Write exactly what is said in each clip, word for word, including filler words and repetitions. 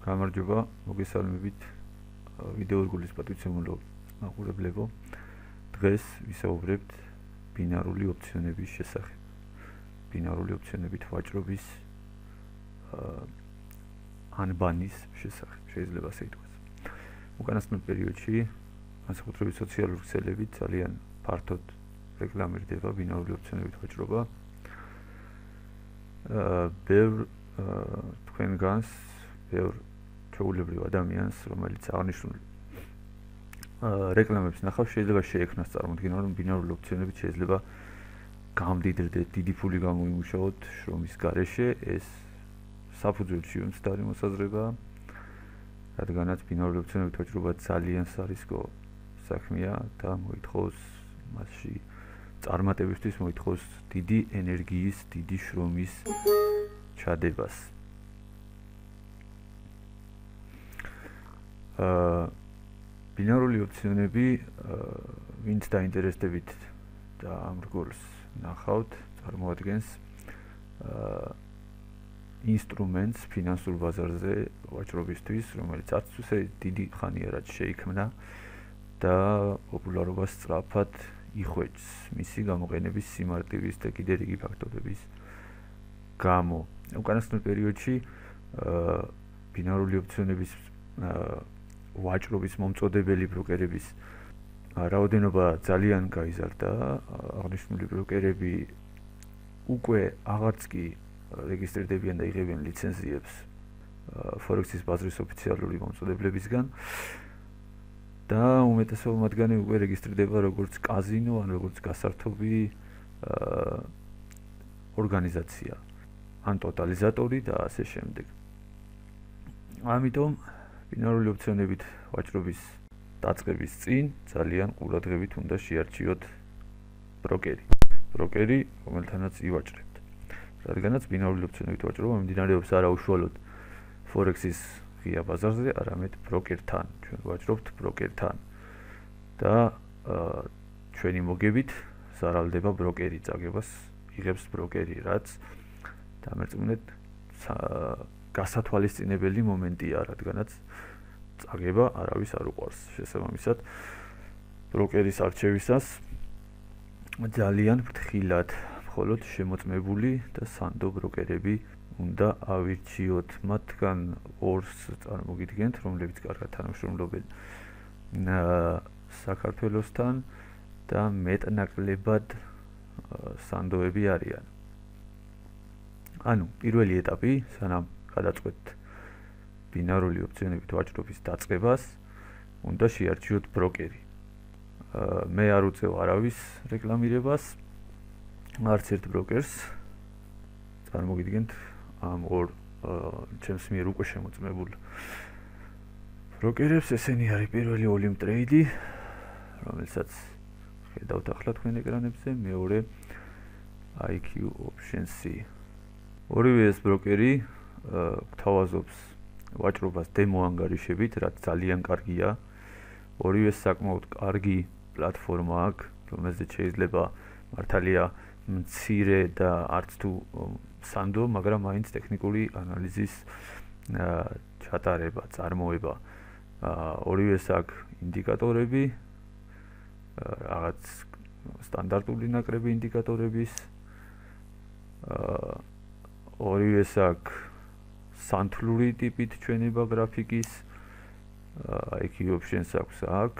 გამარჯობა, მოგესალმებით ვიდეო რგოლის პატივცემულო მაყურებლებო. დღეს ვისაუბრებთ ბინარული ოპციონების შესახებ. ბინარული ოპციონებით ვაჭრობის ანბანის შესახებ, შეიძლება ასე ითქვას. უკანასკნელ პერიოდში განსაკუთრებით სოციალური ქსელებით ძალიან ფართოდ რეკლამირდება ბინარული ოპციონებით ვაჭრობა. ბევრ თქვენგანს, ბევრ ჩვეულებრივ ადამიანს, რომელიც აღნიშნული რეკლამებს ნახავს, შეიძლება შეექმნას წარმოდგენა, რომ ბინარული ოპციონებით შეიძლება გამდიდრდეთ, დიდი ფული გამოიმუშაოთ შრომის გარეშე. ეს საფუძველში უმცდარი მოსაზრებაა, რადგანაც ბინარული ოპციონებით ვაჭრობა ძალიან სარისკო საქმეა და მოითხოვს მასში წარმატებისთვის მოითხოვს დიდი ენერგიის, დიდი შრომის ჩადებას. აა ბინარული ოპციონები, ვინც დაინტერესდებით და ამ რგოლს ნახავთ, წარმოადგენს აა ინსტრუმენტს ფინანსურ ბაზარზე ვაჭრობისთვის, რომელიც არც ისე დიდი ხანია რაც შეიქმნა და პოპულარობას სწრაფად იხვეჭს მისი გამოყენების სიმარტივის და კიდევ რიგი ფაქტორების გამო. უკანასკნელ პერიოდში აა ბინარული ოპციონების აა ვაჭრობის მომწოდებელი ბროკერების რაოდენობა ძალიან გაიზარდა. აღნიშნული ბროკერები უკვე აღარც კი რეგისტრირდებიან და იღებენ ლიცენზიებს ფორექსის ბაზრის ოფიციალური მომწოდებლებისგან და უმეტესობა მათგანი უკვე რეგისტრირდება როგორც კაზინო, ან როგორც გასართობი ორგანიზაცია, ან ტოტალიზატორი და ასე შემდეგ. ამიტომ ბინარული ოპციონებით ვაჭრობის დაწყების წინ ძალიან ყურადღებით უნდა შეარჩიოთ ბროკერი. ბროკერი, რომელთანაც ივაჭრებთ. რადგანაც ბინარული ოპციონებით ვაჭრობა მიმდინარეობს არა უშუალოდ ფორექსის ღია ბაზარზე, არამედ ბროკერთან. ჩვენ ვაჭრობთ ბროკერთან და ჩვენი მოგებით ზარალდება ბროკერი, წაგებას იღებს ბროკერი, რაც დამერწმუნეთ გასათვალისწინებელი მომენტია, რადგანაც წაგება არავის არ უყვარს. შესაბამისად, ბროკერის არჩევისას ძალიან ფრთხილად, მხოლოდ შემოწმებული და სანდო ბროკერები უნდა ავირჩიოთ. მათგან ორს წარმოგიდგენთ, რომლებიც კარგად თანამშრომლობენ საქართველოსთან და მეტნაკლებად სანდოები არიან. ანუ პირველი ეტაპი, სანამ გადაწყვეტთ ბინარული ოპციონებით ვაჭრობის დაწყებას, უნდა შეარჩიოთ ბროკერი. მე არ უწევ არავის რეკლამირებას, არც ერთ ბროკერს. წარმოგიდგენთ ამ ორ ჩემს მიერ უკვე შემოწმებულ ბროკერებს. ესენი არის პირველი Olim Trade, რომელსაც ხედავთ ახლა თქვენ ეკრანებზე, მეორე I Q Options. ორივე ეს ბროკერი გვთავაზობს ვაჭრობას დემო ანგარიშებით, რაც ძალიან კარგია. ორივე საკმაოდ კარგი პლატფორმა აქვს, რომელზეც შეიძლება მართალია მცირე და არც თუ სანდო, მაგრამ მაინც ტექნიკური ანალიზის ჩატარება, წარმოება. ორივეს აქვს ინდიკატორები, რაღაც სტანდარტული ნაკრები ინდიკატორების. ორივეს აქვს სანთლური ტიპით ჩვენება გრაფიკის. I Q Options აქვს აქ,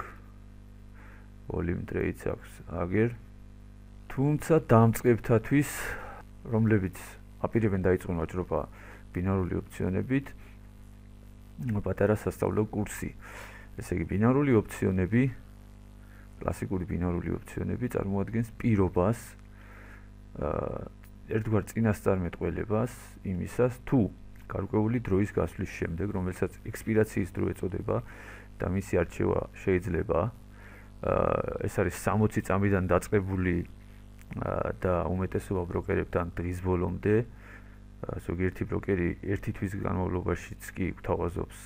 Olim Trade აქვს აგერ. თუმცა დამწყებთათვის, რომლებიც აპირებენ დაიწყონ ვაჭრობა ბინარული ოპციონებით, პატარა სასწავლო კურსი. ესე იგი, ბინარული ოპციონები, კლასიკური ბინარული ოპციონები წარმოადგენს პირობას, ერთგვარ წინასწარმეტყველებას იმისას, თუ გარკვეული დროის გასვლის შემდეგ, რომელსაც ექსპირაციის დრო ეწოდება და მისი არჩევა შეიძლება, ეს არის სამოცი წამიდან დაწყებული და უმეტესობა ბროკერებთან დღის ბოლომდე, ზოგიერთი ბროკერი ერთი თვის განმავლობაშიც კი გვთავაზობს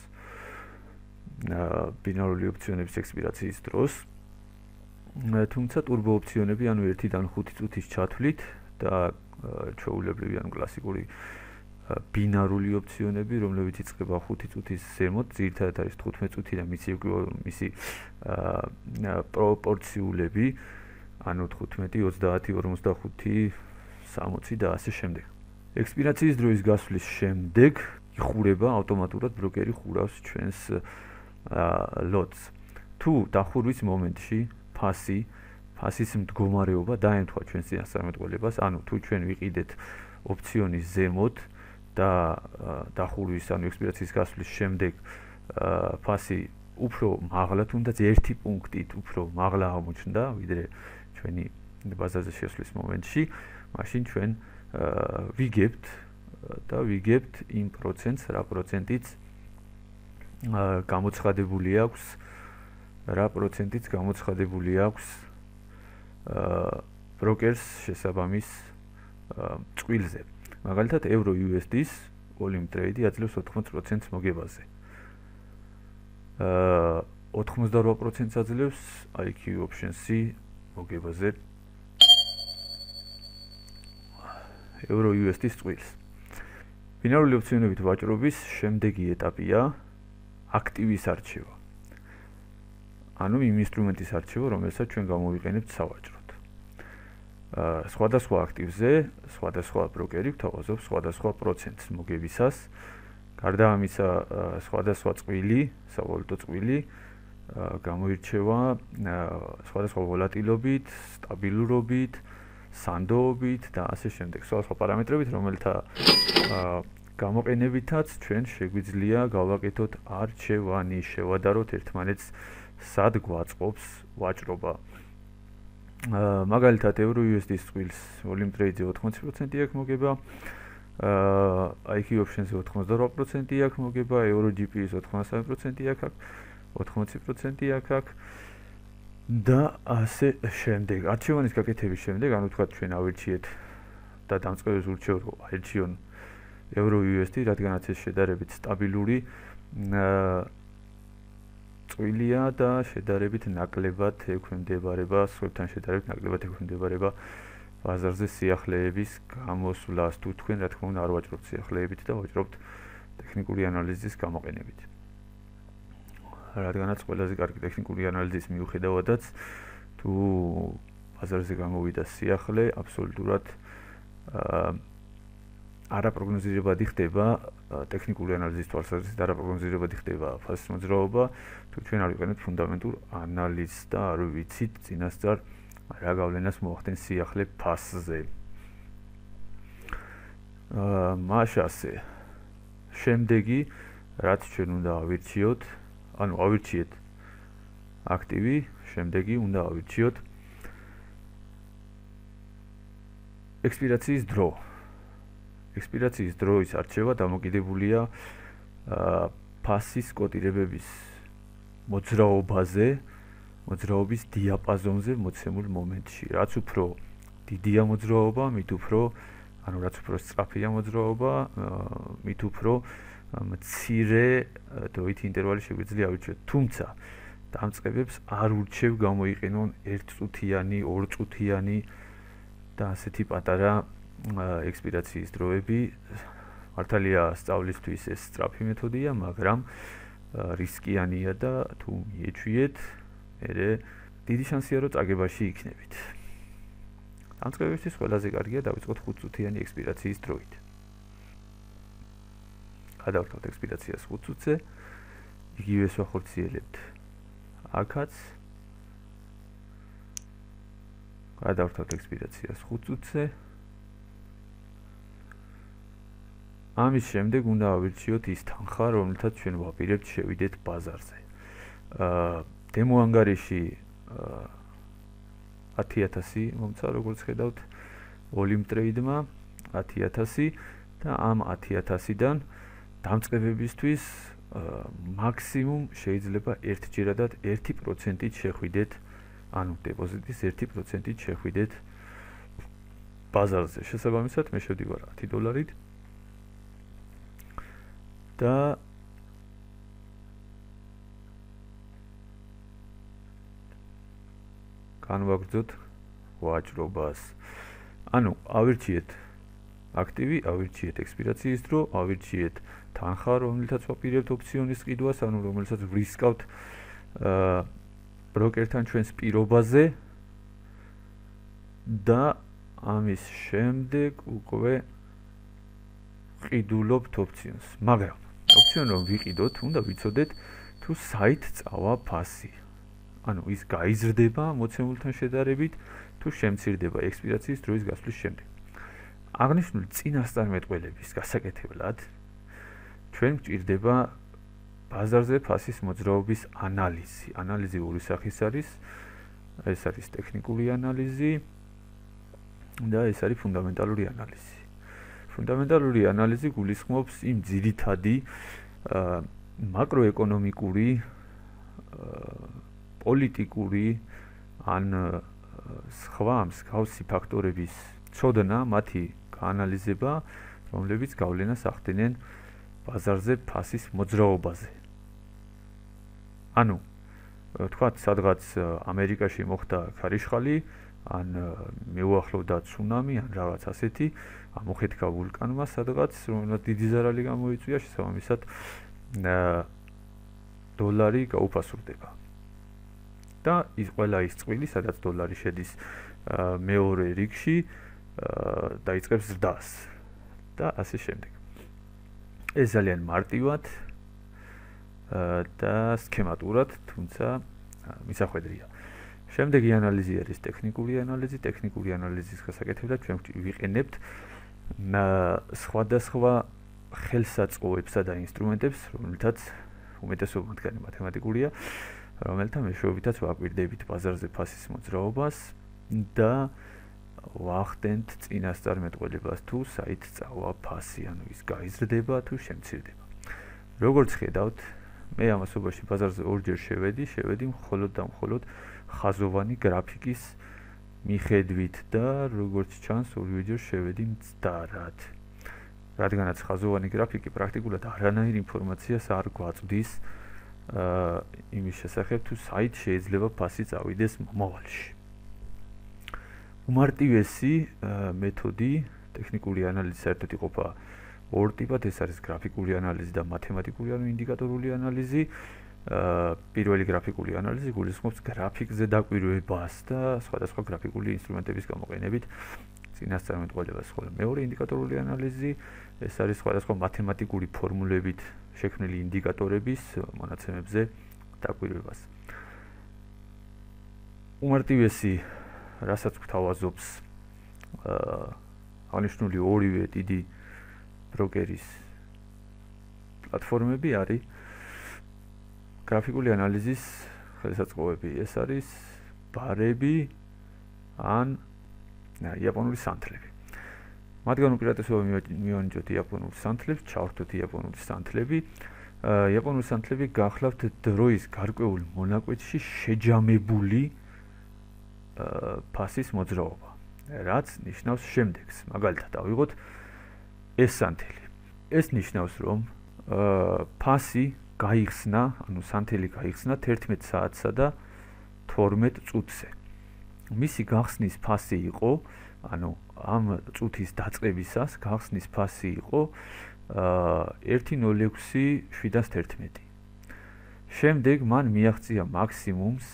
ბინარული ოპციონების ექსპირაციის დროს. თუმცა ტურბო ოპციონები, ანუ ერთიდან ხუთი წუთის ჩათვლით და ჩვეულებრივი, ანუ კლასიკური ბინარული ოპციონები, რომლებიც იწყება ხუთი წუთის ზემოთ, ძირითადად არის თხუთმეტ წუთი და მისი მისი პროპორციულები, ანუ თხუთმეტი, ოცდაათი, ორმოცდახუთი, სამოცი და ასე შემდეგ. ექსპირაციის დროის გასვლის შემდეგ იხურება ავტომატურად ბროკერი ხურავს ჩვენს ლოტს. თუ დახურვის მომენტში ფასი, ფასის მდგომარეობა დაემთხვა ჩვენს წინასწარმეტყველებას, ანუ თუ ჩვენ ვიყიდეთ ოპციონის ზემოთ და დახურვის ანუ ექსპირაციის გასვლის შემდეგ ფასი უფრო მაღლა, თუნდაც ერთი პუნქტით უფრო მაღლა აღმოჩნდა, ვიდრე ჩვენი ბაზარზე შესვლის მომენტში, მაშინ ჩვენ ვიგებთ და ვიგებთ იმ პროცენტს, რა პროცენტიც გამოცხადებული აქვს, რა პროცენტიც გამოცხადებული აქვს ბროკერს შესაბამის წყვილზე. მაგალითად, Euro U S D-ს volume trade აძლევს ოთხმოც პროცენტს მოგებაზე. აა ოთხმოცდარვა პროცენტს აძლევს I Q options-ი მოგებაზე Euro U S D-ს წყვილს. ბინარული ოპციონებით ვაჭრობის შემდეგი ეტაპია აქტივის არჩევა. ანუ იმ ინსტრუმენტის არჩევა, რომელსაც ჩვენ გამოვიყენებთ სავაჭროდ. აა სხვადასხვა აქტივზე, სხვადასხვა ბროკერი გვთავაზობს სხვადასხვა პროცენტს მოგებისას. გარდა ამისა, სხვადასხვა წყვილი, სავალუტო წყვილი გამოირჩევა სხვადასხვა ვოლატილობით, სტაბილურობით, სანდოობით და ასე შემდეგ. სხვადასხვა პარამეტრებით, რომელთა გამოყენებითაც ჩვენ შეგვიძლია გავაკეთოთ არჩევანი, შევადაროთ ერთმანეთს სად გვაწყობს ვაჭრობა. აა მაგალითად Euro U S D-ს წყვილს volume trade-ზე ოთხმოცი პროცენტი აქვს მოგება, აა I Q options-ზე ოთხმოცდარვა პროცენტი აქვს მოგება, Euro G P-ს ოთხმოცდასამი პროცენტი აქვს, ოთხმოცი პროცენტი აქვს და ასე შემდეგ. არჩევანის გაკეთების შემდეგ, ანუ თქვა ჩვენ ავირჩიეთ და დამწყებელს ურჩევ რომ აირჩიონ Euro U S D, რადგანაც ეს შედარებით სტაბილური აა წვილია და შედარებით ნაკლებად ექვემდებარება, სხვებთან შედარებით ნაკლებად ექვემდებარება ბაზარზე სიახლეების გამოსვლას. თუ თქვენ რა თქმა უნდა არ ვაჭრობთ სიახლეებით და ვაჭრობთ ტექნიკური ანალიზის გამოყენებით. რადგანაც ყველაზე კარგი ტექნიკური ანალიზის მიუხედავადაც თუ ბაზარზე გამოვიდა სიახლე, აბსოლუტურად აა არაპროგნოზირებადი ხდება ტექნიკური ანალიზის თვალსაზრისით არაპროგნოზირებადი ხდება ფასის მოძრაობა, თუ ჩვენ არ ვიყენებთ ფუნდამენტურ ანალიზს და არ ვიცით წინასწარ რა გავლენას მოახდენს სიახლე ფასზე. აა მაშასე შემდეგი რაც ჩვენ უნდა ავირჩიოთ, ანუ ავირჩიეთ აქტივი, შემდეგი უნდა ავირჩიოთ ექსპირაციის დრო. ექსპირაციის დროის არჩევა დამოკიდებულია ფასის კოტირებების მოძრაობაზე, მოძრაობის დიაპაზონზე მოცემულ მომენტში. რაც უფრო დიდია მოძრაობა, მით უფრო, ანუ რაც უფრო სწრაფია მოძრაობა, მით უფრო მცირე დროითი ინტერვალი შეგვიძლია ავირჩიოთ. თუმცა დამწყებებს არ ურჩევ გამოიყენონ ერთწუთიანი, ორწუთიანი და ასეთი პატარა ექსპირაციის დროები. მართალია სწავლისთვის ეს სწრაფი მეთოდია, მაგრამ რისკიანია და თუ მიეჩვიეთ, მერე დიდი შანსია რომ წაგებაში იქნებით. დამწყებებისთვის ყველაზე კარგია დავიწყოთ ხუთწუთიანი ექსპირაციის დროით. გადავართავთ ექსპირაციას ხუთ წუთზე, იგივეს ვახორციელებთ აქაც. გადავართავთ ექსპირაციას ხუთ წუთზე. ამის შემდეგ უნდა ავირჩიოთ ის თანხა, რომელთაც ჩვენ ვაპირებთ შევიდეთ ბაზარზე. აა დემო ანგარიში ათი ათასი მომცა, როგორც ხედავთ, volume trade-მა ათი ათასი და ამ ათი ათასიდან დამწყებებისთვის მაქსიმუმ შეიძლება ერთჯერადად ერთი პროცენტით შეხვიდეთ, ანუ დეპოზიტის ერთი პროცენტით შეხვიდეთ ბაზარზე. შესაბამისად, მე შევდივარ ათი დოლარით და განვაგრძოთ ვაჭრობას. ანუ ავირჩიეთ აქტივი, ავირჩიეთ ექსპირაციის დრო, ავირჩიეთ თანხა, რომელთაც ვაპირებთ ოპციონის ყიდვას, ანუ რომელსაც ვრისკავთ აა ბროკერთან ჩვენს პირობაზე და ამის შემდეგ უკვე ყიდულობთ ოპციონს. მაგრამ ოპციონი რომ ვიყიდოთ, უნდა ვიცოდეთ თუ საით წავა ფასი. ანუ ის გაიზრდება მოცემულთან შედარებით, თუ შემცირდება ექსპირაციის დროის გასვლის შემდეგ. აღნიშნული წინასწარმეტყველების გასაკეთებლად ჩვენ გვჭირდება ბაზარზე ფასის მოძრაობის ანალიზი. ანალიზი ორი სახის არის. ეს არის ტექნიკური ანალიზი და ეს არის ფუნდამენტალური ანალიზი. ფუნდამენტალური ანალიზი გულისხმობს იმ ძირითადი მაკროეკონომიკური, პოლიტიკური ან სხვა მსგავსი ფაქტორების ცოდნა, მათი გაანალიზება, რომლებიც გავლენას ახდენენ ბაზარზე ფასის მოძრაობაზე. ანუ თქვათ, სადღაც ამერიკაში მოხდა ქარიშხალი, ან მეუახლოვდა ცუნამი, ან რაღაც ასეთი, ამოხეთქა ვულკანმა სადღაც, რომელსაც დიდი ზარალი გამოიწვია, შესაბამისად დოლარი გაუფასურდება. და ის ყველა ის წვილი, სადაც დოლარი შედის მეორე რიგში, დაიწყებს ზრდას და ასე შემდეგ. ეს ძალიან მარტივად და სქემატურად, თუმცა მისახვედრია. შემდეგი ანალიზი არის ტექნიკური ანალიზი. ტექნიკური ანალიზის გასაკეთებლად ჩვენ ვიყენებთ სხვადასხვა ხელსაწყოებსა და ინსტრუმენტებს, რომელთაც უმეტესობა მათგანი მათემატიკურია, რომელთა მეშვეობითაც ვაკვირდებით ბაზარზე ფასის მოძრაობას და ვახდენთ წინასწარმეტყველებას თუ საით წავა ფასი, ანუ ის გაიზრდება თუ შემცირდება. როგორც ხედავთ, მე ამასობაში ბაზარზე ორჯერ შევედი, შევედი მხოლოდ და მხოლოდ ხაზოვანი გრაფიკის მიხედვით და როგორც ჩანს, ორივეჯერ შევედი მცდარად. რადგანაც ხაზოვანი გრაფიკი პრაქტიკულად არანაირ ინფორმაციას არ გვაწვდის იმის შესახებ, თუ საით შეიძლება ფასი წავიდეს მომავალში. უმარტივესი მეთოდი ტექნიკური ანალიზის საერთოდ იყოფა ორ ტიპად, ეს არის გრაფიკული ანალიზი და მათემატიკური ანუ ინდიკატორული ანალიზი. პირველი გრაფიკული ანალიზი გულისხმობს გრაფიკზე დაკვირვებას და სხვადასხვა გრაფიკული ინსტრუმენტების გამოყენებით წინასწარმეტყველებას, ხოლო მეორე ინდიკატორული ანალიზი, ეს არის სხვადასხვა მათემატიკური ფორმულებით შექმნილი ინდიკატორების მონაცემებზე დაკვირვებას. უმარტივესი, რასაც გვთავაზობს აღნიშნული ორივე დიდი ბროკერის პლატფორმები არის გრაფიკული ანალიზის ხელსაწყოები. ეს არის ბარები ან იაპონური სანთლები. მათგან უპირატესობა მივანიჭოთ იაპონურ სანთლებს, ჩავხდოთ იაპონური სანთლები. იაპონური სანთლები გახლავთ დროის გარკვეულ მონაკვეთში შეჯამებული ფასის მოძრაობა, რაც ნიშნავს შემდეგს. მაგალითად, ავიღოთ ეს სანთელი. ეს ნიშნავს, რომ ფასი გაიხსნა, ანუ სანთელი გაიხსნა თერთმეტ საათსა და თორმეტ წუთზე. მისი გახსნის ფასი იყო, ანუ ამ წუთის დაწყებისას გახსნის ფასი იყო ერთი ნული ექვსი შვიდას თერთმეტი. შემდეგ მან მიაღწია მაქსიმუმს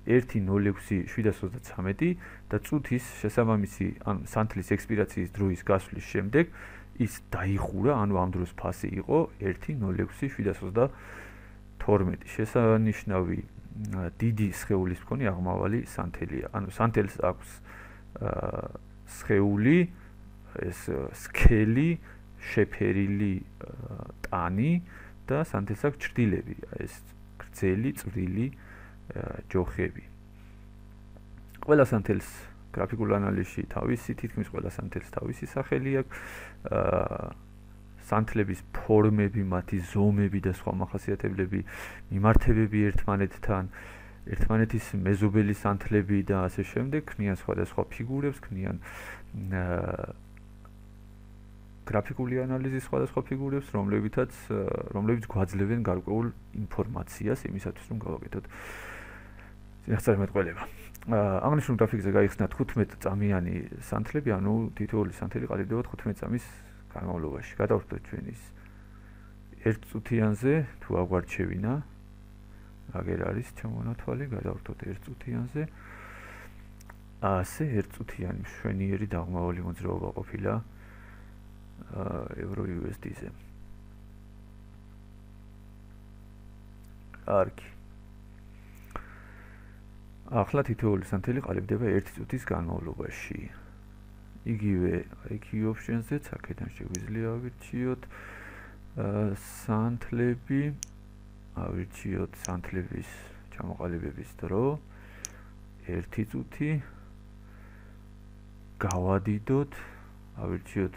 ერთი ნული ექვსი შვიდას ოცდათვრამეტი და წუთის შესაბამისი, ანუ სანთლის ექსპირაციის დროის გასვლის შემდეგ ის დაიხურა, ანუ ამ დროს ფასი იყო ერთი ნული ექვსი შვიდას ოცდათორმეტი. შესანიშნავი დიდი სხეულის მქონე აღმავალი სანთელია. ანუ სანთელს აქვს სხეული, ეს სქელი, შეფერილი ტანი და სანთელს აქვს ჭრდილები, ეს გრძელი, წვრილი ჯოხები. ყველა სანთელს გრაფიკულ ანალიზში თავისი, თითქმის ყველა სანთელს თავისი სახელი აქვს. სანთლების ფორმები, მათი ზომები და სხვა მახასიათებლები, მიმართებები ერთმანეთთან, ერთმანეთის მეზობელი სანთლები და ასე შემდეგ ქმნიან სხვადასხვა ფიგურებს, ქმნიან გრაფიკული ანალიზის სხვადასხვა ფიგურებს, რომლებითაც რომლებიც გვაძლევენ გარკვეულ ინფორმაციას იმისათვის, რომ გავაკეთოთ წინასწარმეტყველება. აღნიშნულ გრაფიკზე გაიხსნა თხუთმეტ წამიანი სანთლები, ანუ თითოეული სანთელი ყალიბდება თხუთმეტ წამის განმავლობაში. გადავხდეთ ჩვენ ის ერთ წუთიანზე, თუ აგვარჩევინა, აგერ არის ჩამონათვალი, გადავხდოთ ერთ წუთიანზე. ასე ერთ წუთიანი მშვენიერი დაღმავალი მოძრაობა ყოფილა ევრო იუ ეს დი-ზე. კარგი. ახლა თითოეული სანთელი ყალიბდება ერთი წუთის განმავლობაში. იგივე აი kiu options-ზეც აქედან შეგვიძლია ავირჩიოთ სანთლები, ავირჩიოთ სანთლების ჩამოყალიბების დრო ერთი წუთი, გავადიდოთ, ავირჩიოთ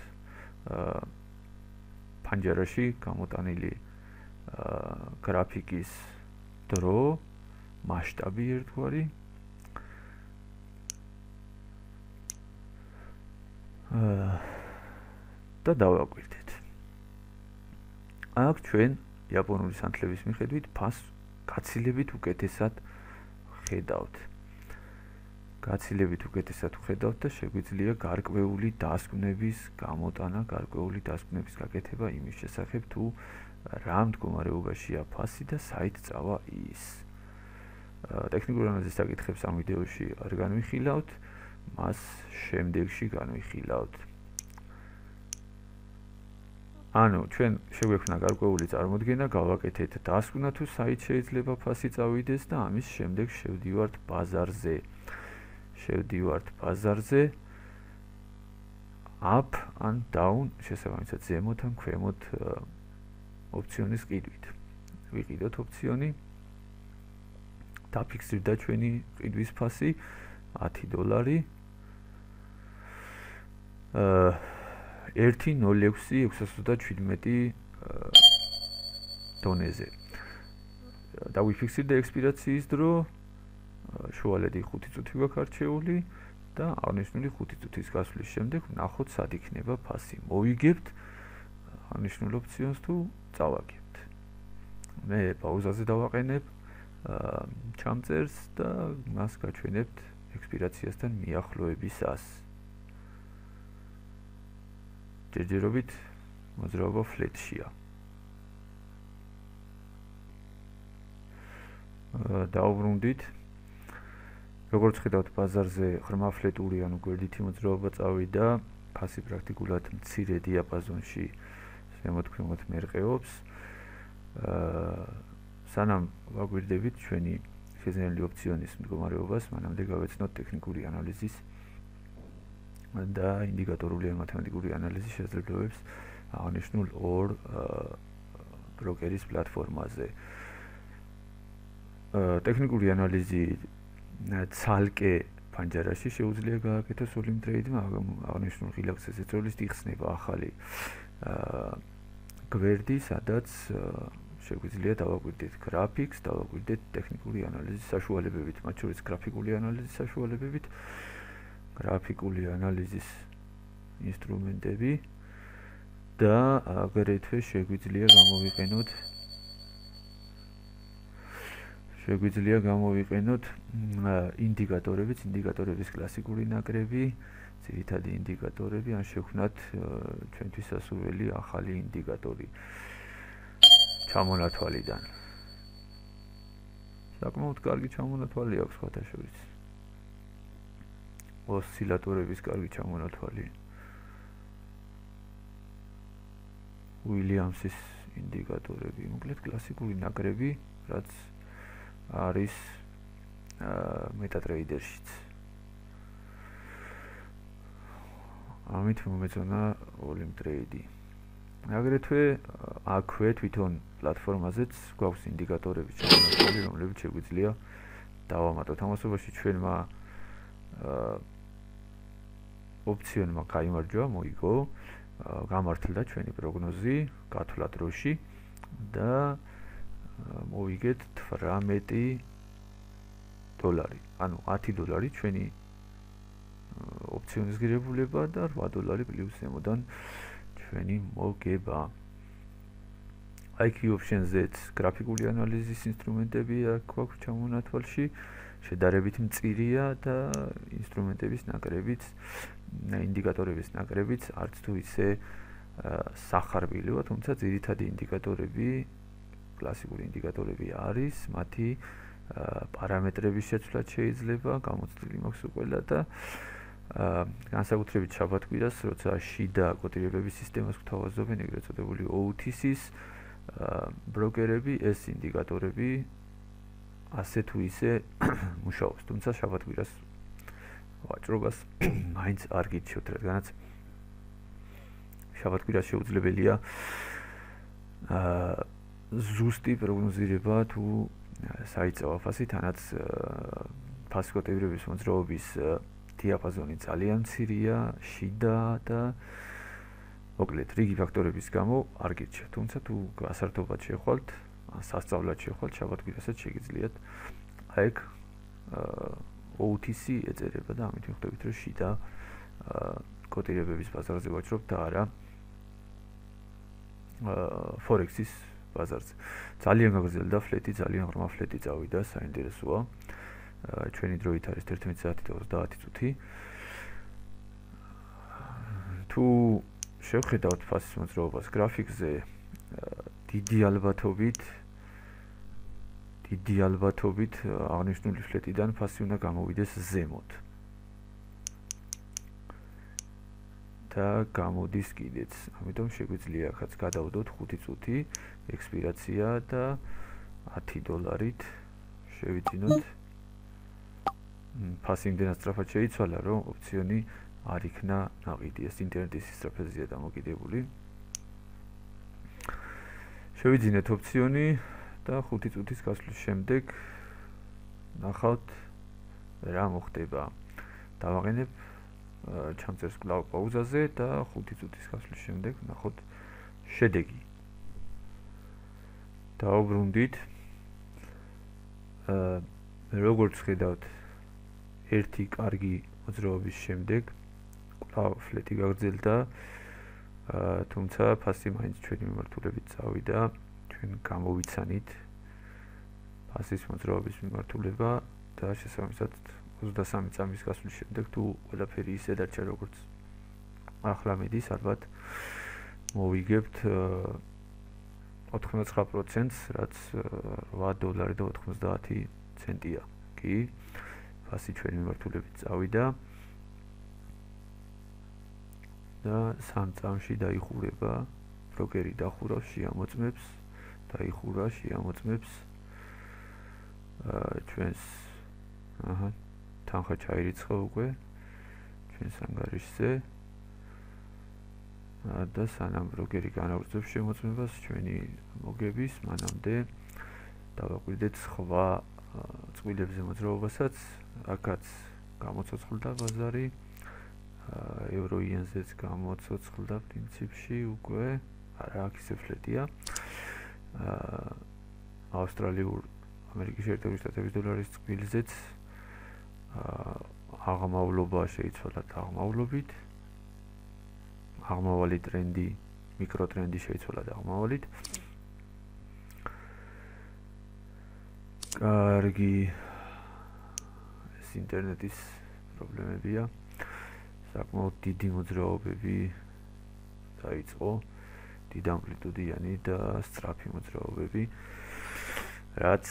პანჯარაში გამოტანილი გრაფიკის დრო, მასშტაბი ერთგვარი. და დავაკვირდეთ. აქ ჩვენ იაპონური სანთლების მიხედვით ფასს გაცილებით უკეთესად ხედავთ. გაცილებით უკეთესად ხედავთ და შეგვიძლია გარკვეული დასკვნების გამოტანა, გარკვეული დასკვნების გაკეთება იმის შესახებ, თუ რა მდგომარეობაშია ფასი და საით წავა ის. ტექნიკური ანალიზის საკითხებს ამ ვიდეოში არ განვიხილავთ, მას შემდეგში განვიხილავთ. ანუ ჩვენ შეგვექმნა გარკვეული წარმოდგენა, გავაკეთეთ დასკვნა თუ საით შეიძლება ფასი წავიდეს და ამის შემდეგ შევდივართ ბაზარზე. შევდივართ ბაზარზე up and down, შესაბამისად ზემოთ ან ქვემოთ ოპციონის ყიდვით. ვიყიდოთ ოპციონი. დაფიქსირდა ჩვენი ყიდვის ფასი ათი დოლარი. ერთი ნული ექვსი ექვსას ოცდაშვიდმეტი დონეზე. დავიფიქსირდა ექსპირაციის დრო, შუალედი ხუთი წუთი გვაქვს არჩეული და აღნიშნული ხუთი წუთის გასვლის შემდეგ ვნახოთ სად იქნება ფასი. მოვიგებთ აღნიშნულ ოპციონს თუ წავაგებთ. მე პაუზაზე დავაყენებ ჩამწერს და მას გაჩვენებთ ექსპირაციასთან მიახლოებისას. ჯერჯერობით მოძრაობა ფლეტშია. დაუბრუნდით. როგორც ხედავთ, ბაზარზე ღრმა ფლეტური, ანუ გვერდითი მოძრაობა წავიდა, ფასი პრაქტიკულად მცირე დიაპაზონში ზემოთ-ქვემოთ მერყეობს. სანამ ვაგვირდებით ჩვენი შეზნეული ოპციონის მდგომარეობას, მანამდე გავეცნოთ ტექნიკური ანალიზის და ინდიკატორული ან მათემატიკური ანალიზის შესაძლებლობებს აღნიშნულ ორ ბროკერის პლატფორმაზე. ტექნიკური ანალიზი ცალკე პანჯარაში შეუძლია გააკეთოს ოლიმ ტრეიდმა, აღნიშნულ ღილაკზე ზეწოლის იხსნება ახალი გვერდი, სადაც შეგვიძლია დავაკვირდეთ გრაფიკს, დავაკვირდეთ ტექნიკური ანალიზის საშუალებებით, მათ შორის გრაფიკული ანალიზის საშუალებებით, გრაფიკული ანალიზის ინსტრუმენტები და აგრეთვე შეგვიძლია გამოვიყენოთ შეგვიძლია გამოვიყენოთ ინდიკატორებიც, ინდიკატორების კლასიკური ნაკრები, ძირითადი ინდიკატორები, ან შევქმნათ ჩვენთვის სასურველი ახალი ინდიკატორი ჩამონათვალიდან. საკმაოდ კარგი ჩამონათვალი აქვს სხვათა შორის. ოსცილატორების კარგი ჩამონათვალი. უილიამსის ინდიკატორები, მოკლედ კლასიკური ნაკრები, რაც არის მეტატრეიდერშიც. ამით მომეწონა ოლიმ ტრეიდი. აგრეთვე აქვე თვითონ პლატფორმაზეც გვაქვს ინდიკატორები ჩამონათვალი, რომლებიც შეგვიძლია დავამატოთ. ამასობაში ჩვენმა ოპციონმა გაიმარჯვა, მოიგო, გამართლდა ჩვენი პროგნოზი, გათვლა დროში და მოვიგეთ თვრამეტი დოლარი. ანუ ათი დოლარი ჩვენი ოპციონის ღირებულება და რვა დოლარი პლუს ზემოდან ჩვენი მოგება. აი kiu options-ზეც გრაფიკული ანალიზის ინსტრუმენტები აქვს ჩამონათვალში. შედარებით მწირია და ინსტრუმენტების ნაკრებიც, ინდიკატორების ნაკრებიც არც თუ ისე სახარბილოა, თუმცა ძირითადი ინდიკატორები, კლასიკური ინდიკატორები არის, მათი პარამეტრების შეცვლაც შეიძლება, გამოცდილი მაქვს უყველა და განსაკუთრებით შაბათ-კვირას, როცა შიდა კოტირებების სისტემას გვთავაზობენ, ეგრეთ წოდებული O T C-ის ბროკერები, ეს ინდიკატორები ასე თუ ისე მუშაობს, თუმცა შაბათ-კვირას ვაჭრობას მაინც არ გიჩვევთ, რადგანაც შაბათ-კვირას შეუძლებელია ზუსტი პროგნოზირება თუ საიწევო ფასი, თანაც ფასის კოტირების მოძრაობის დიაპაზონი ძალიან მცირეა, შიდა და მოკლედ რიგი ფაქტორების გამო არ გირჩევთ, თუმცა თუ გასართობად შეხვალთ, ან სასწავლად შეხვალთ, შაბათ-კვირასაც შეგიძლიათ აი ეგ O T C ეწერება და ამით მიხვდებით, რომ შიდა კოტირებების ბაზარზე ვაჭრობთ და არა Forex-ის ბაზარზე. ძალიან გაგრძელდა ფლეტი, ძალიან ღრმა ფლეტი წავიდა, საინტერესოა. ჩვენი დროით არის ერთმეტი საათი და ოცდაათი წუთი. თუ შევხედავთ ფასის მოძრაობას გრაფიკზე, დიდი ალბათობით დიდი ალბათობით აღნიშნული ფლეტიდან ფასი უნდა გამოვიდეს ზემოთ. და გამოდის კიდეც. ამიტომ შეგვიძლია ახაც გადავდოთ ხუთი წუთი ექსპირაცია და ათი დოლარით შევიძინოთ. ფასი იმდენად სწრაფად შეიცვალა, რომ ოპციონი არ იქნა ნაყიდი, ეს ინტერნეტის სისწრაფეზეა დამოკიდებული. შევიძინეთ ოპციონი და ხუთი წუთის გასვლის შემდეგ ნახავთ რა მოხდება. დავაყენებ ჩამწერს კვლავ პაუზაზე და ხუთი წუთის გასვლის შემდეგ ნახოთ შედეგი. დავუბრუნდით. აა როგორც ხედავთ, ერთი კარგი მოძრაობის შემდეგ კვლავ ფლეტი გაგრძელდა, თუმცა ფასი მაინც ჩვენი მიმართულებით წავიდა, ჩვენ გამოვიცანით ფასის მოძრაობის მიმართულება და შესაბამისად ოცდასამი წამის გასვლის შემდეგ თუ ყველაფერი ისე დარჩა როგორც ახლა მიდის, ალბათ მოვიგებთ ოთხმოცდათხმეტ პროცენტს, რაც რვა დოლარი და ოთხმოცდაათი ცენტია. კი, ფასი ჩვენი მიმართულებით წავიდა და სამ წამში დაიხურება, ბროკერი დახურავს, შეამოწმებს, დაიხურა, შეამოწმებს ჩვენს აჰა თანხა ჩაირიცხა უკვე ჩვენს ანგარიშზე და სანამ ბროკერი განაგრძობს შემოწმებას ჩვენი მოგების, მანამდე დავაკვირდეთ სხვა წყვილებზე მოძრაობასაც, აქაც გამოცოცხლდა ბაზარი, ევრო-იენზეც გამოცოცხლდა პრინციპში უკვე, არა აქ ისე ფლეტია. ავსტრალიურ ამერიკის შეერთებული შტატების დოლარის წყვილზეც აღმავლობა შეიცვალა აღმავლობით. აღმავალი ტრენდი, მიკროტრენდი შეიცვალა აღმავალით. კარგი, ეს ინტერნეტის პრობლემებია. საკმაოდ დიდი მოძრაობები დაიწყო, დიდი ამპლიტუდიანი და სწრაფი მოძრაობები, რაც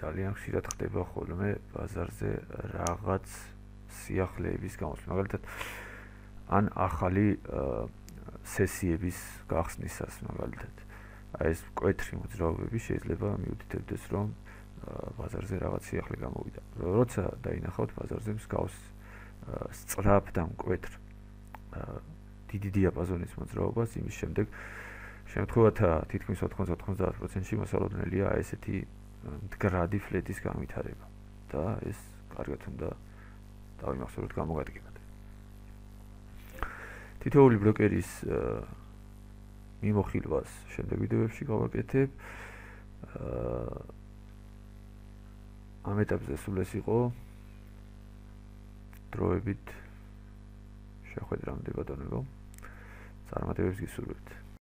ძალიან ხშირად ხდება ხოლმე ბაზარზე რაღაც სიახლეების გამოსვლა. მაგალითად, ან ახალი სესიების გახსნისას, მაგალითად, აი ეს მკვეთრი მოძრაობები შეიძლება მიუთითებდეს, რომ ბაზარზე რაღაც სიახლე გამოვიდა. როცა დაინახავთ ბაზარზე მსგავს სწრაფ და მკვეთრ დიდი დიაპაზონის მოძრაობას, იმის შემდეგ შემთხვევათა თითქმის ოთხმოცდა-ოცდაათ პროცენტში მოსალოდნელია აი ესეთი მდგრადი ფლეტის განვითარება და ეს კარგად უნდა დავიმახსოვროთ გამოგადგებად. თითოეული ბროკერის მიმოხილვას შემდეგ ვიდეოებში გავაკეთებ. ამ ეტაპზე სულ ეს იყო. დროებით შეხვედრამდე ბატონებო. წარმატებებს გისურვებთ.